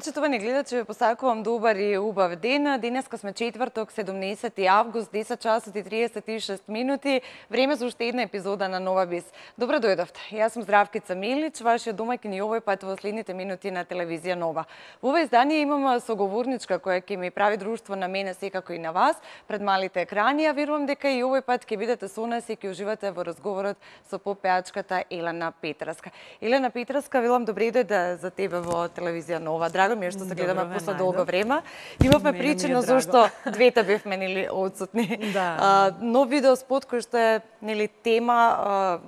Почитувани гледачи, ве посакувам добар и убав ден. Денеска сме четврток, 17 август, 10 часот и 36 минути. Време за уште една епизода на Нова Бис. Добро дојдовте. Јас сум Здравкица Милич, вашиот домаќин и овој пат во следните минути на телевизија Нова. Во ова издание имам соговорничка која ќе ми прави друштво на мене секако и на вас пред малите екрани, а верувам дека и овој пат ќе бидете со нас и ќе уживате во разговорот со поп-пеачката Елена Петраска. Елена Петраска, велам добре дојде за тебе во телевизија Нова. Драго ми е што се гледаме после долго време. Имавме причина зашто двете бевме нели отсутни. Да. Нов видео спот кој што е нели тема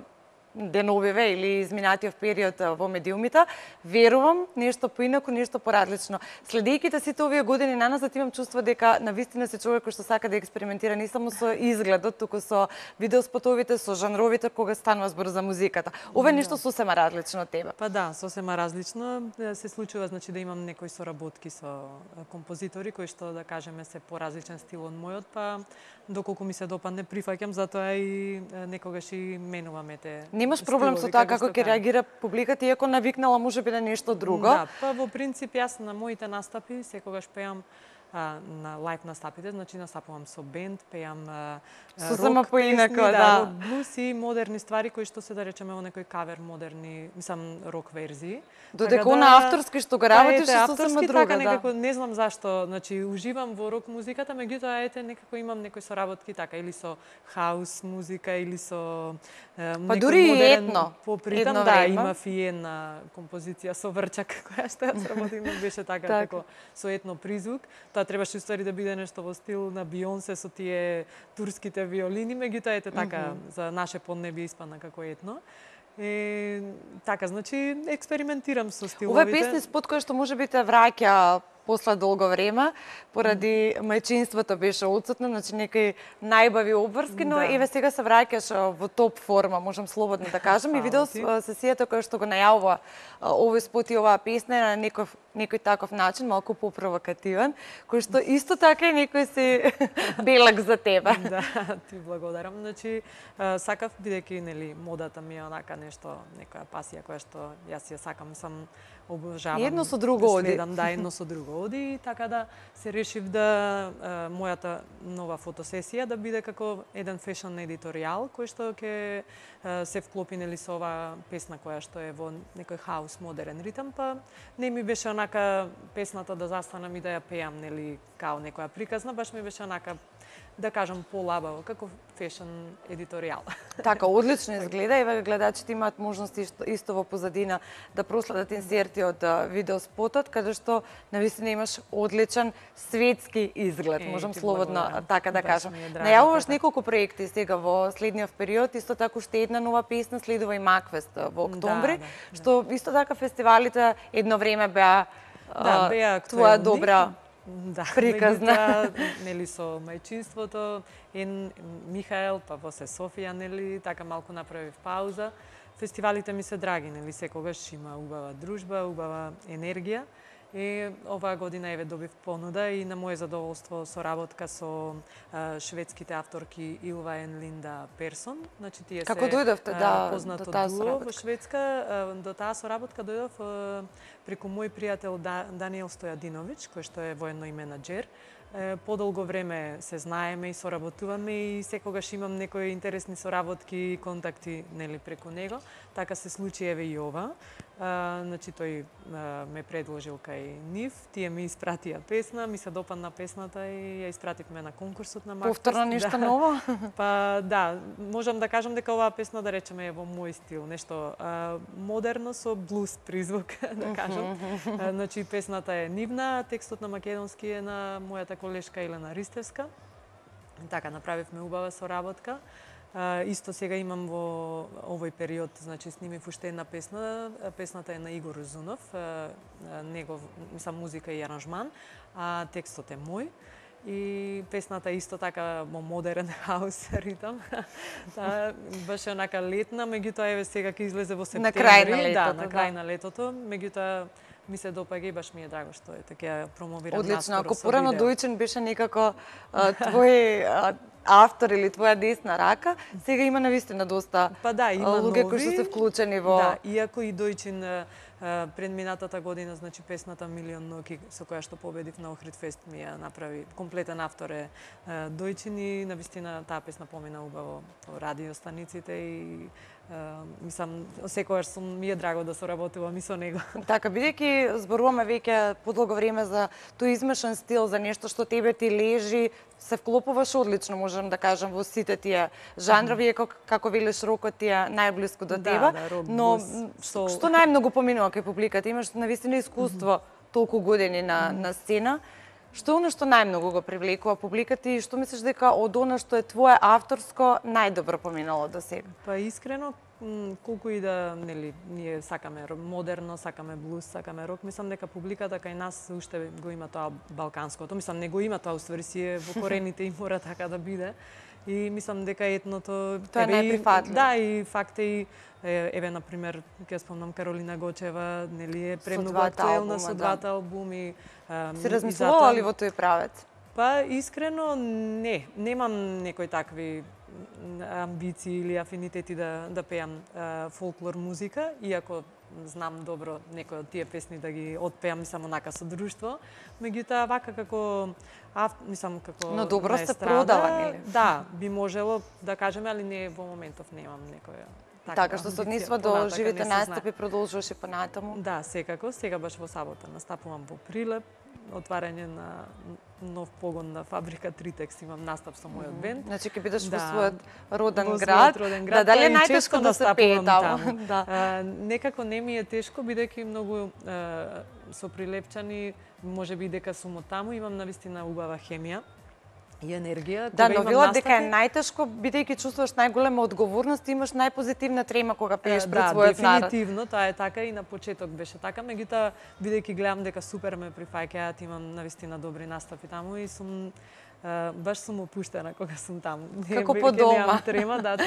деновиве или изминатиот период во медиумите, верувам нешто поинаку, нешто поразлично. Следејќи сите овие години наназад имам чувство дека навистина се човек кој што сака да експериментира не само со изгледот, туку со видеоспотовите, со жанровите кога станува збор за музиката. Ова е нешто сосема различно од тебе. Па да, сосема различно. Се случува значи да имам некои соработки со композитори кои што да кажеме се поразличен стил од мојот, па доколку ми се допадне прифаќам, затоа и некогаш и менуваме те. Немаш проблем со тоа како ќе реагира публиката, иако навикнала можеби на нешто друго? Да, па во принцип јас на моите настапи секогаш пеам на лајв настапите, значи настапувам со бенд, пеам сосема поинаку, да, рок блус и модерни ствари кои што се да речеме во некој кавер модерни, мислам рок верзии. Додека на авторски што го работиш е сосема друга, така, некако не знам зашто, значи уживам во рок музиката, меѓутоа ете некако имам некои соработки така или со хаус музика или со па дури и етно. Попритам да, имав и една композиција со Врчак која што ја сработим, беше така како со етно призвук. Тоа требаше уствари да биде нешто во стил на Бионсе со тие турските виолини, меѓутоа ете така за наше поднебие испадна како етно. Така, значи експериментирам со стиловите. Ова е песни спот кој што можеби те враќа после долго време, поради мајчинството беше отсутно, значи некои најбави обврски, но еве сега се враќаш во топ форма, можам слободно да кажам. И видео сесијата која што го најавува овој спот и оваа песна на некој таков начин, малку попровокативен, кој што исто така и некој си белак за тебе. Да, ти благодарам. Значи, сакав, бидејќи нели модата ми е онака нешто, некоја пасија која што јас ја сакам, сам обожавам. Едно со друго оди. Следам, да, едно со друго оди, така да се решив да мојата нова фотосесија да биде како еден фешн едиторијал кој што ќе се вклопи нели со оваа песна која што е во некој хаус модерен ритам, па не ми беше онака песната да застанам и да ја пеам нели као некоја приказна, баш ми беше онака да кажам полабаво, како фешн едиторијал. Така, одлично изгледа. Еве гледачите имаат можност исто во позадина да проследат инсерти од видеоспотот, каде што навистина имаш одличен светски изглед, можам слободно така да кажам. Најавуваш неколку проекти сега во следниот период, исто така уште една нова песна следува и Макфест во октомври, што исто така фестивалите едно време беа твоја добра приказна. Нели со мајчинството, Михаел, па во се Софија, нели, така малку направив пауза. Фестивалите ми се драги, нели, секогаш има убава дружба, убава енергија. И оваа година еве добив понуда и на моје задоволство соработка со шведските авторки Илва и Линда Персон. Значи тие се познато дуо во Шведска. До таа соработка дојдов преку мој пријател Даниел Стојадиновиќ, кој што е военно и менаџер. Подолго време се знаеме и соработуваме и секогаш имам некои интересни соработки и контакти нели преку него. Така се случи еве и ова. Значи тој ме предложил кај нив, тие ми испратија песна, ми се допадна песната и ја испративме на конкурсот на Макфест. Повторно нешто ново? Па да, можам да кажам дека оваа песна да речеме е во мој стил, нешто модерно со блуз призвук, да кажам. Значи песната е нивна, текстот на македонски е на мојата колешка Елена Ристевска. Така направивме убава соработка. Исто сега имам во овој период, значи снимив уште една песна. Песната е на Игор Узунов, негов, мислам, музика и аранжман, а текстот е мој. И песната исто така во модерен хаус ритам. Беше онака летна, меѓутоа еве сега ќе излезе во септември. На крај на летото. Да, на крај на летото, меѓутоа ми се допаѓа и баш ми е драго што е така промовирам наскоро. Одлично, ако порано Дојчен беше некако твој автор или твоја десна рака, сега има навистина доста па да, има луѓе нови, кои што се вклучени во... Да, иако и Дојчин Предминатата година, значи песната Милион ноќи со која што победив на Охрид фест ми ја направи комплетен автор е Дојчин и навистина таа песна помина убаво по радиостаниците и мислам секогаш ми е драго да соработувам и со него. Така, бидејќи зборуваме веќе подолго време за тој измешан стил, за нешто што тебе ти лежи, се вклопуваш одлично, можам да кажам, во сите тие жанрови, како велиш рокот ти е најблиску до тебе, но што најмногу поминува кај публиката? Имаш навистина искуство толку години на сцена. Што е оно што најмногу го привлекува публиката и што мислиш дека од она што е твое авторско најдобро поминало до сега? Па искрено, колку и да, нели, ние сакаме модерно, сакаме блуз, сакаме рок, мислам дека публиката кај нас уште го има тоа балканското. Мислам не го има тоа, уствари си е во корените и мора така да биде. И мислам дека етното тоа е најприфатливо. Да, и факт е еве на пример, ќе спомнам Каролина Гочева, нели е премногу актуелна со двата албуми. Си размислувала ли во тој правец? Па искрено немам некои такви амбиции или афинитети да пеам фолклор музика, иако знам добро некои од тие песни да ги отпеам само онака со друштво, меѓутоа вака како мислам како но добро се продава, нели? Да, би можело да кажеме, али не во моментов немам некоја така што се однесува до живите настапи, продолжуваше понатаму. Да, секако, сега баш во сабота настапувам во Прилеп, отварање на нов погон на фабрика Тритекс, имам настап со мојот бенд. Значи ќе бидеш во својот роден град. Да, дали е најтешко да се пее таму? Да. Некако не ми е тешко, бидејќи многу со прилепчани, можеби дека сум од таму, имам навистина убава хемија и енергија. Да, но велат дека е најтешко, бидејќи чувствуваш најголема одговорност и имаш најпозитивна трема кога пееш пред својот народ. Да, дефинитивно, тоа е така и на почеток беше така, меѓутоа бидејќи гледам дека супер ме прифаќаат, имам навистина добри настапи таму и сум баш сум опуштена кога сум таму. Како по дома. Немам трема, да,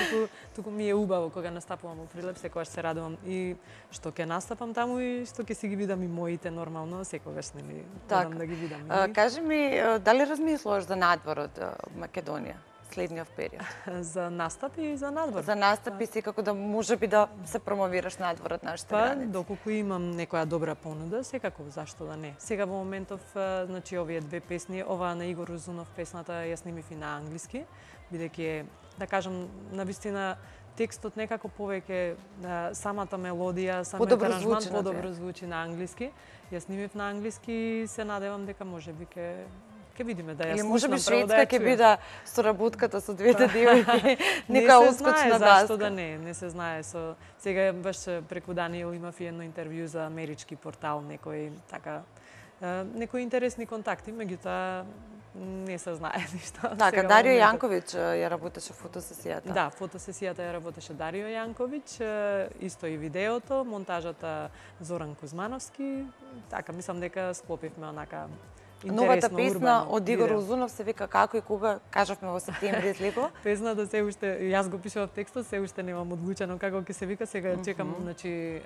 туку ми е убаво кога настапувам во Прилеп, секогаш се радувам и што ќе настапам таму и што ќе си ги видам и моите нормално, секогаш нели одам да ги видам. Кажи ми, дали размислуваш за надвор од Македонија следниот период? За настапи и за надвор. За настапи секако да можеби да се промовираш надвор од нашите граници. Доколку имам некоја добра понуда, секако зашто да не. Сега во моментов, значи овие две песни, оваа на Игор Узунов песната ја снимив и на англиски, бидејќи да кажам навистина текстот некако повеќе самата мелодија, самиот аранжман подобро звучи на англиски. Ја снимив на англиски и се надевам дека можеби ќе видиме да ја слушнам. Можеби шведска ќе биде соработката со двете девојки, нека отскочна даска. Зашто да не се знае. Сега баш преку Даниел имав и едно интервју за амерички портал, некои интересни контакти, меѓутоа не се знае ништо. Така, Дарио Јанковиќ ја работеше фотосесијата. Да, фотосесијата ја работеше Дарио Јанковиќ, исто и видеото, монтажата Зоран Кузмановски. Така, мислам дека склопивме онака новата песна од Игор Узунов се вика Како и кога, кажавме во септември излегува. Песната се уште, јас го пишував текстот, се уште немам одлучено како ќе се вика, сега чекам значи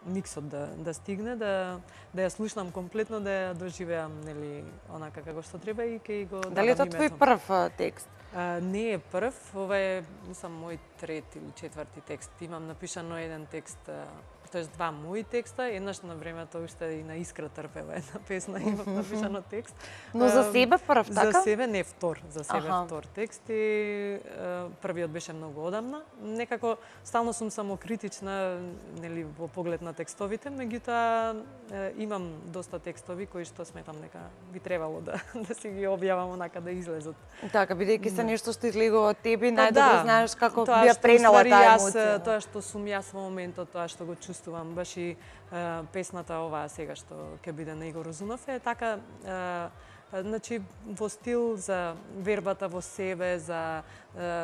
миксот да стигне, да ја слушнам комплетно, да ја доживеам нели онака како што треба и ќе го дадам. Дали е тоа твој прв текст? Не е прв, ова е мислам мој трети или четврти текст. Имам напишано еден текст, тоест два мои текста, еднаш на времето уште и на Искра Трпева една песна имав напишано текст. Но за себе прв, така? За себе не втор, за себе втор текст и првиот беше многу одамна. Некако стално сум самокритична, нели во поглед на текстовите, меѓутоа имам доста текстови кои што сметам дека би требало да си ги објавам онака да излезат. Така, бидејќи се нешто што излегува од тебе, најдобро знаеш како би ја пренела таа емоција. Тоа што сум јас во моментот, тоа што го чувствувам, баш и песната оваа сега што ќе биде на Игор Узунов е така значи во стил за вербата во себе, за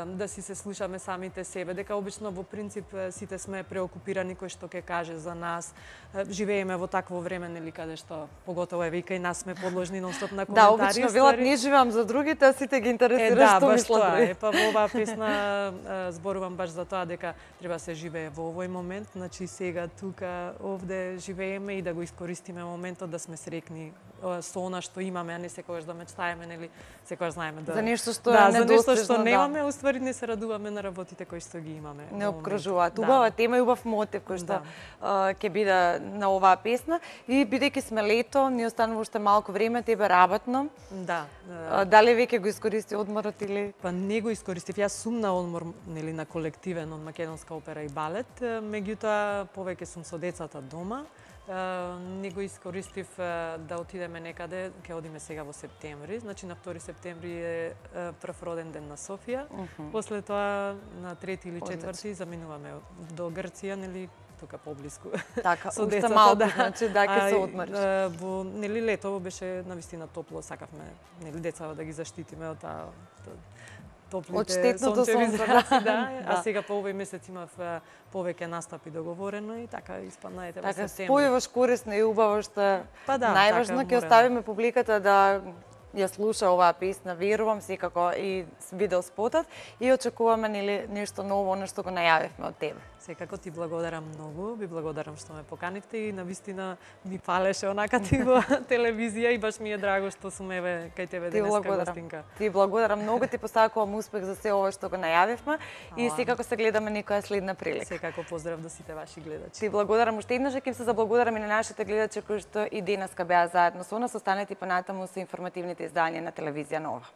да си се слушаме самите себе, дека обично во принцип сите сме преокупирани кој што ќе каже за нас. Живееме во такво време, нели, каде што поготово е вика и нас сме подложни нон-стоп на коментари. Да, обично велат не живеам за другите, а сите ги интересира што мислат други. Па во оваа песна зборувам баш за тоа дека треба се живее во овој момент, значи сега тука овде живееме и да го искористиме моментот да сме среќни со она што имаме, а не секогаш да мечтаеме, нели, секогаш знаеме за нешто што за нешто што немаме, радуваме, уствари не се радуваме на работите кои што ги имаме. Не обкружуваат. Убава тема и убав мотив кој што ќе биде на оваа песна. И бидејќи сме лето, ни останува уште малку време, тебе работно. Да. Дали веќе го искористи одморот или? Па не го искористив. Јас сум на одмор, нели, на колективен од македонска опера и балет, меѓутоа повеќе сум со децата дома. Не го искористив да отидеме некаде, ќе одиме сега во септември, значи на 2 септември е прв роден ден на Софија. После тоа на 3 или 4 заминуваме до Грција, нели, тука поблиску. Така, уште малку, значи да ќе се одмориш. Во нели лето беше навистина топло, сакавме нели децата да ги заштитиме од таа топлите сончеви зраци, да. А сега по овој месец имав повеќе настапи договорено и така испадна ете во септември. Така спојуваш корисно и убаво што најважно ќе оставиме публиката да ја слуша оваа песна, верувам секако и видео спотот и очекуваме нели нешто ново, нешто го најавивме од тебе. Секако ти благодарам многу, ви благодарам што ме поканивте и навистина ми палеше онака ти во телевизија и баш ми е драго што сум еве кај тебе денеска гостинка. Ти благодарам многу, ти посакувам успех за се ова што го најавивме и секако се гледаме некоја следна прилика. Секако поздрав до сите ваши гледачи. Ти благодарам уште еднаш, ќе се заблагодарам и на нашите гледачи кои што и денеска беа заедно со нас. Останете понатаму со информативните издања на телевизија Нова.